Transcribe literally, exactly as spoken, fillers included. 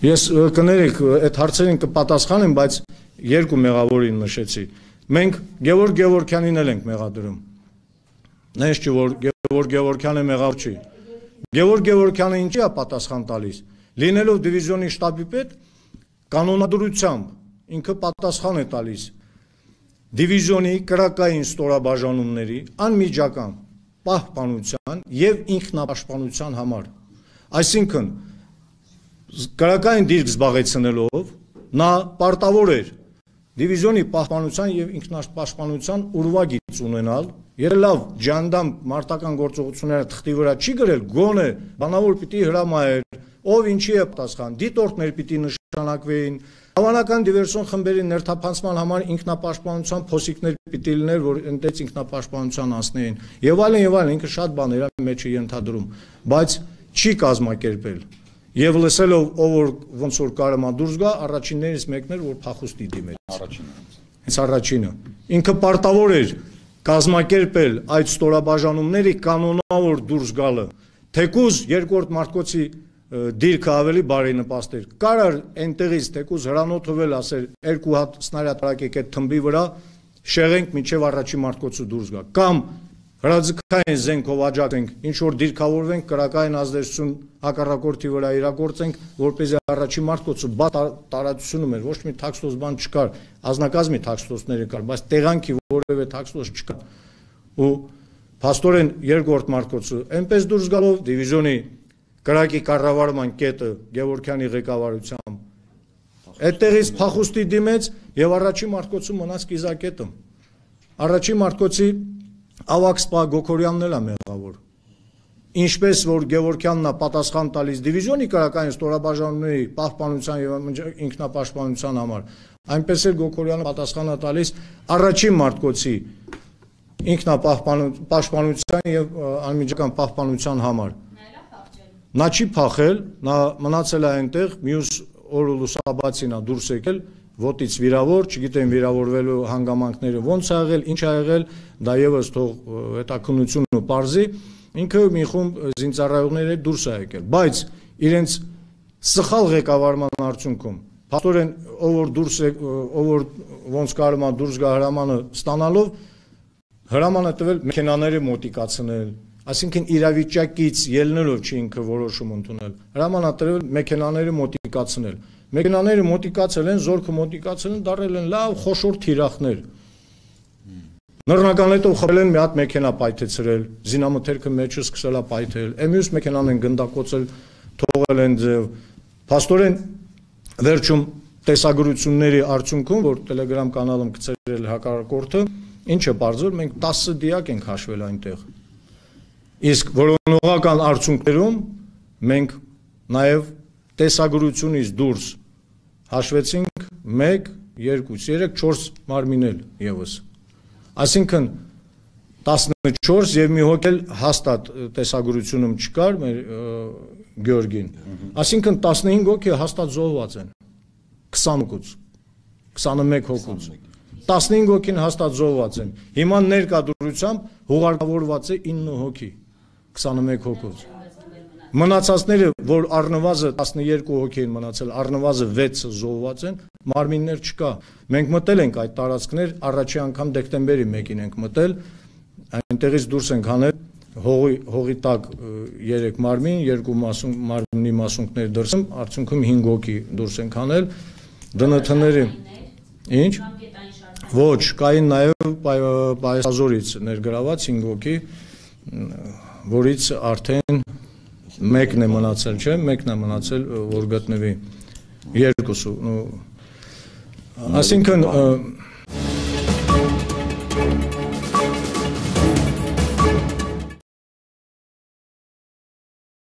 Ես կներեք, այդ հարցերին կպատասխանեմ, բայց երկու մեղավորին նշեցի։ Մենք Գևորգ Գևորգյանին էլ ենք մեղադրում։ Նենց չի, որ Գևորգ Գևորգյանը մեղավոր չի։ Գևորգ Գևորգյանը ինչի է պատասխան տալիս։ Լինելով դիվիզիոնի շտաբի պետ, կանոնադրությամբ ինքը պատասխան է տալիս դիվիզիոնի կրակային ստորաբաժանումների անմիջական պահպանության եւ ինքնապաշտպանության համար։ Այսինքն կրակային դիրք զբաղեցնելով նա պարտավոր էր դիվիզիոնի պահպանության եւ ինքնապաշտպանության ուրվագիծ ունենալ, երբ լավ ջանդամ մարտական գործողությունները թղթի վրա չի գրել, գոնե բանավոր պիտի հրամայեր, ով ինչի է պատասխան, դիտորդներ պիտի նշանակվեին, հավանական դիվերսիոն խմբերի ներթափանցման համար ինքնապաշտպանության փոսիկներ պիտի լիներ, որ այնտեղ ինքնապաշտպանության անցնեին, եւ այլն եւ այլն, ինքը շատ բաներ է մեջ ենթադրում, բայց չի կազմակերպել։ Եվ լսելով ով որ ոնց որ կարողա դուրս գա, առաջիններից մեկն էր, որ փախուստի դիմեց։ Առաջինը։ Հենց առաջինը։ Ինքը պարտավոր էր կազմակերպել այդ ստորաբաժանումների կանոնավոր դուրս գալը։ Թեկուզ երկրորդ Մարտկոցի դիրքը ավելի բարենպաստ էր։ Կարար այնտեղից թեկուզ հրանոթվել ասել երկու հատ սնարյադ տարակեք այդ թմբի վրա, շեղենք մինչև առաջին Մարտկոցը դուրս գա։ Կամ հրաձգային զենքով աջակցենք, ինչ որ դիրքավորվենք, կրակային ազդեցություն հակառակորդի վրա իրագործենք, որպեսզի առաջին Մարտկոցը բաց տարածությունում էր, ոչ մի թաքստոց բան չկար, ազնագազմի թաքստոցները կար, բայց տեղանքի որևէ թաքստոց չկար։ Ու փաստորեն երկրորդ Մարտկոցը այնպես դուրս գալով դիվիզիոնի կրակի կառավարման կետը Գևորգյանի ղեկավարությամբ այդտեղից փախուստի դիմեց եւ առաջին Մարտկոցը մնաց կիզակետը։ Առաջին Մարտկոցի Ավակ սպա Գոքորյանն էլ է մեղավոր։ Ինչպես որ Գևորգյանն է պատասխան տալիս դիվիզիոնի կրակային ստորաբաժանումների պահպանության եւ ինքնապաշտպանության համար, այնպես էլ Գոքորյանը պատասխան է տալիս առաջին Մարտկոցի ինքնապաշտպանության եւ անմիջական պահպանության համար։ Նա չի փախել, նա մնացել է այնտեղ, մյուս օրը լուսաբացին է դուրս եկել, ոտից վիրավոր, չգիտեմ վիրավորվելու հանգամանքները ոնց ա եղել, ինչ ա եղել, դա եւս թող հետաքննությունը պարզի, ինքը մի խումբ զինծառայողների դուրս ա եկել, բայց իրենց սխալ ղեկավարման արդյունքում փաստորեն ով որ դուրս ով որ ոնց կարողա դուրս գա հրամանը ստանալով հրամանը տվել մեքենաները մոտիկացնել, այսինքն իրավիճակից ելնելով չի ինքը որոշում ընդունել, հրամանա տվել մեքենաները մոտիկացնել, մեքենաները մոտիկացել են, զորքը մոտիկացել են, դարել են լավ խոշոր թիրախներ, նռնական հետո խփել են մի հատ մեքենա պայթեցրել, զինամթերքը մեջը սկսել է պայթել, մյուս մեքենան են գնդակոծել, թողել են ձև, փաստորեն վերջում տեսագրությունների արդյունքում, որ Telegram կանալում գծել հակառակորդը, ինչը բարձր, մենք տասը դիակ ենք հաշվել այնտեղ։ Իսկ որոնողական արդյունքներում մենք նաև տեսագրությունից դուրս հաշվեցինք մեկ, երկու, երեք, չորս մարմինել եւս։ Այսինքն տասնչորս եւ մի հոգ էլ հաստատ տեսագրությունում չկար մեր Գյորգին։ Այսինքն տասնհինգ հոգի հաստատ զոհված են։ քսան հոգուց, քսանմեկ հոգուց։ տասնհինգ հոգին հաստատ զոհված են։ Հիմա ներկայությամբ հուղարկավորված է ինը հոգի, քսանմեկ հոգուց։ Մնացածները, որ առնվազն տասներկու հոգի են մնացել, առնվազն վեցը զոհված են, մարմիններ չկա։ Մենք մտել ենք այդ տարածքներ, առաջի անգամ դեկտեմբերի մեկին ենք մտել, այնտեղից դուրս ենք հանել հողի հողի տակ երեք մարմին, երկու մարմնի մասունքներ դրսում, արդյունքում հինգ հոգի դուրս ենք հանել, ԴՆԹ-ների։ Ինչ? Ոչ, կային նաև Պայասազորից ներգրաված հինգ հոգի, որից արդեն մեկն է մնացել, չէ, մեկն է մնացել, որ գտնվի երկուսը։ Այսինքն